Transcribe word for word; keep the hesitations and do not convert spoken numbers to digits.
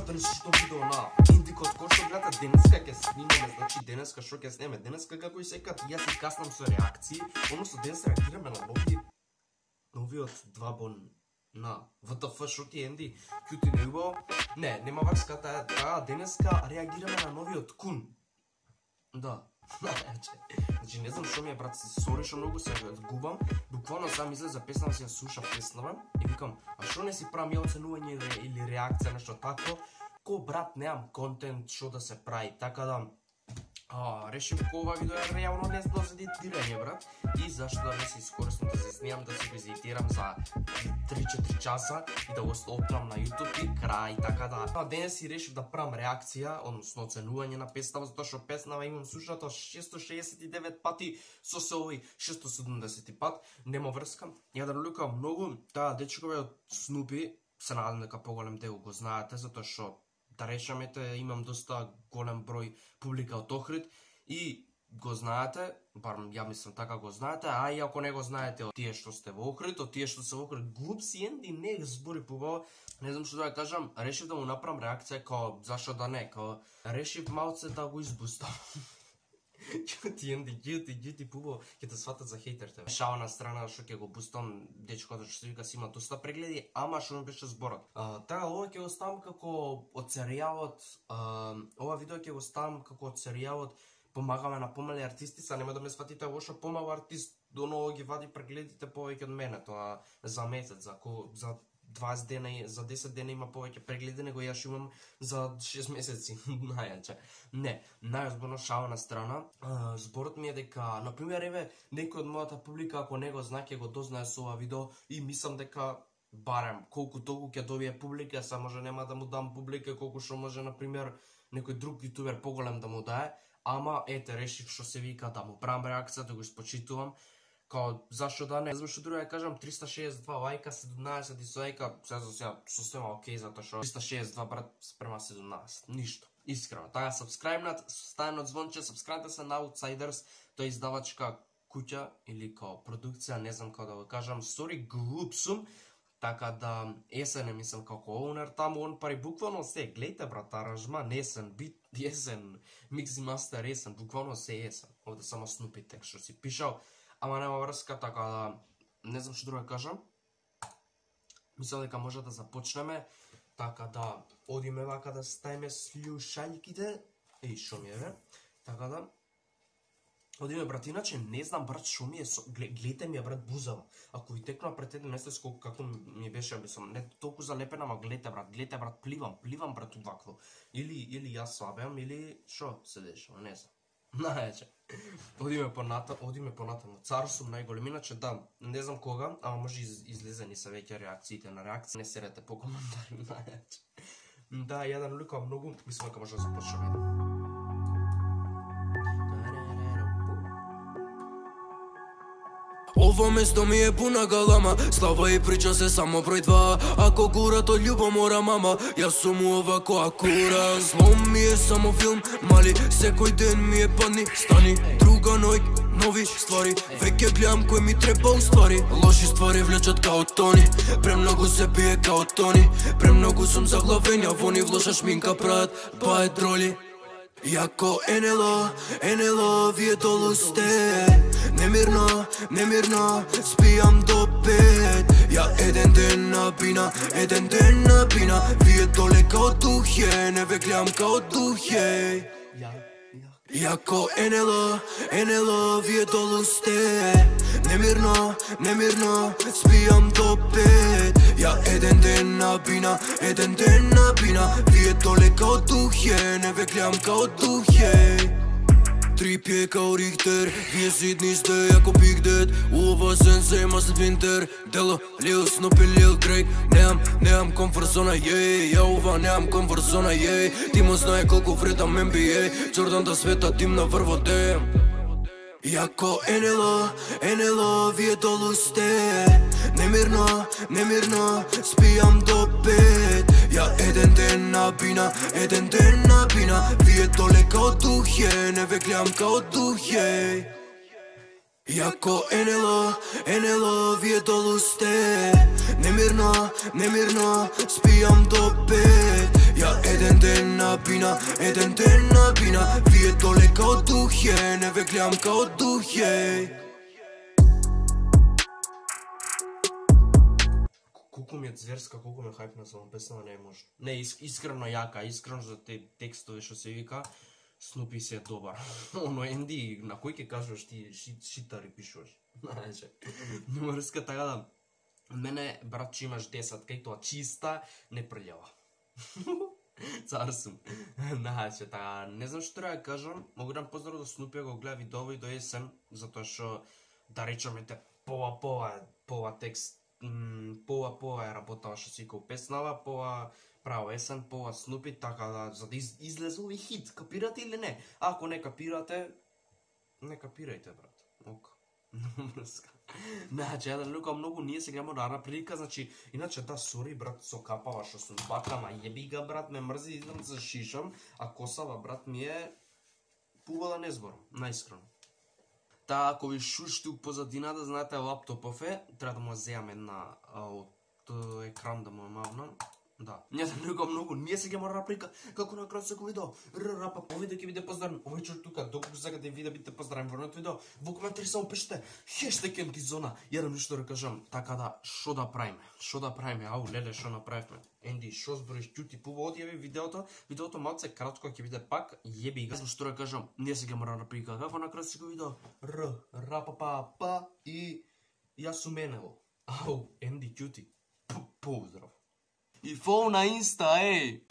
гледате ли што видео на Индикот, кој што гледате денеска ќе снимаме, значи денеска што ќе снимаме, денеска како и секад јас и каснам со реакции, односно денес реагираме на нови новиот два бон на В Т Ф, шо ти Енди, кјути не убаво, не, нема врска таа, таа денеска реагираме на новиот Кун, да. Значи не знам што ми е, брат, сори што многу се губам, буквално сам излезе песна, си ја слушав песнава и викам, а што не си правам ја оценување или реакција, нешто тако, ко брат немам контент што да се прави, така да а, решив ко ова видео е реално не за едитирање, брат, и зашто да не се искористам да се снимам, да се го едитирам за три-четири часа и да го оптам на YouTube и крај, така да. А денес си решив да правам реакција, односно оценување на песнава, затоа што песнава имам слушато шесто шеесет и девет пати, со се овој шесто седумдесет пат, нема врска. Ја да лука многу, таа дечкове од Снупи, се надам дека поголем дел го знаете, затоа што да речемете, имам доста голем број публика од Охрид и го знаете, барем ја мислам така го знаете, а и ако не го знаете од тие што сте во Охрид, од тие што се во Охрид, глуп си Енди, не збори побаво, не знам што да ја кажам, решив да му направам реакција, као зашо да не, као решив малце да го избустам. Ќути Енди, ќути, ќути побаво, ќе те сватат за хејтерите. Шала на страна што ќе го пустам, дечкото што се вика си има доста прегледи, ама што ми беше зборот. Така, ова ќе го ставам како од серијалот, ова видео ќе го ставам како од серијалот Помагаме на помали артисти, са нема да ме сватите лошо, помал артист доново ги вади прегледите повеќе од мене, тоа за месец, за за дваесет дена, за десет дена има повеќе прегледи него јас имам за шест месеци, најаче. Не, најозборно шала на страна, зборот ми е дека, например, еве, некој од мојата публика, ако не го знае, ќе го дознае со ова видео и мислам дека барем колку толку ќе добие публика, са може нема да му дам публика колку што може, например, некој друг јутубер поголем да му дае, ама ете, решив што се вика да му правам реакција, да го испочитувам, као зашто да не, знам што друго ја кажам, триста шеесет и два лајка, седумнаесет дизлајка, се за сега сосема окей, затоа што триста шеесет и два брат спрема седумнаесет, ништо, искрено. Така, сабскрајбнат, ставено звонче, сабскрајбнат се на Outsiders, тоа е издавачка куќа или као продукција, не знам како да го кажам, сори, глуп сум, така да есен е, мислам, како оунер таму, он пари буквално се, гледате брат, аранжман, есен, бит, есен, микс и мастер, есен, буквално се есен, овде само Снупи текст што си пишал, ама нема врска, така да, не знам што друго кажам, мислам дека може да започнеме, така да, одиме вака да ставиме слушаљките, еј, шо ми е, бе, така да, одиме брат, иначе не знам брат шо ми е, гледате ми е брат бузава, ако ви текнува пред еден месец колку како ми беше, мислам, не толку залепена, ама гледате брат, гледате брат, пливам, пливам брат удвакло, или, или јас слабеам, или шо се дешава, не знам, најаче, одиме понатаму, одиме понатаму, цар сум најголем, иначе да, не знам кога, ама може из, излезени се веќе реакциите на реакции, не серете по коментари, најаче, да, ја да наликам многу, мислам дека може да започнеме. Ова место ми е пуна галама, слава и прича се само број два. Ако гурат од љубо мора мама, јас сум овако акура. Злом ми е само филм, мали, секој ден ми е падни, стани. Друга ноќ, нови ствари, веќе гледам кој ми треба уствари. Лоши ствари влечат као тони, премногу се пие као тони. Премногу сум заглавен, ја вони в лоша шминка прават бајт роли. Јако НЛО, НЛО, вие долу сте. Немирно, немирно, спијам до пет. Ја еден ден на бина, еден ден на бина. Вие доле као духе, не ве гледам као духе. Јако НЛО, НЛО, вие долу сте. Немирно, немирно, спијам до пет. Ја еден ден на бина, еден ден на бина. Вие доле као духе, не ве гледам као духе. Три пие као Рихтер, вие сидни сте јако Big Dad. Ова сенсе има след винтер, Дело, Лил, Снупи, Лил, Дрейк. Неам, неам комфорт зона, јеј, ја ова неам комфорт зона, јеј. Тимо знае колку вредам Н Б А, Джордан да света тим на врво дем. Јако НЛО, НЛО, вие долу сте. Немирно, немирно, спијам до пет. Ја еден ден на бина, еден ден на бина. Вие доле као духе, не ве гледам као духе. Јако НЛО, НЛО, вие долу сте. Немирно, немирно, спијам до пет. Ја еден на пина, еден ден на бина. Вие доле као духе, не ве гледам као духе. Колку ми е зверска, колку ми е хајпна за оваа песна, не е можно. Не, ис, искрено јака, искрено за те текстови што се вика, Снупи се е добар. Оно Енди, на кој ќе кажуваш ти ши, шитари пишуваш. Знаеш, numeriска така да, мене, брат, че имаш десет, кај тоа чиста, не прљава. Цар сум. Знаеш, така, не знам што треба да кажам, могу да поздрав до Снупи, го гледа видео и до есен, затоа што, да речеме те, пова, пова, пова текст, пова, пова е работава што си као песнава, пова, право есен, пова Снупи, така да, за да из, излезе овој хит, капирате или не? Ако не капирате, не капирајте, брат. Ока. Мрска. Значи, ја да лука многу, ние сега имamo рана прилика, значи, иначе да, сори, брат, со капава што сум бакама, јеби га, брат, ме мрзи, идам за шишам, а косава, брат, ми е пува да не зборам, наискрено. Та, ако ви шушти у позадината, знаете, лаптопов е, треба да му земам една од екран да му ја мавнам. Да. Ние да не го многу, ние сега мора прика како на крај секој видео. Р па овој да ќе биде поздравен. Овој човек тука доколку сега да ви да бидете поздравени во новото видео. Во коментари само пишете хештег М Т зона. Ја да нешто да кажам, така да што да правиме? Што да правиме? Ау, леле, што направивме? Енди, што збориш, ќути пува одјави видеото. Видеото малце кратко ќе биде пак, јеби га. Што да кажам, ние сега мора да прика како на крај секој видео. Р ра па па па и јас сум Енело. Ау, Енди, ќути. Поздрав. И фол на инста, ей!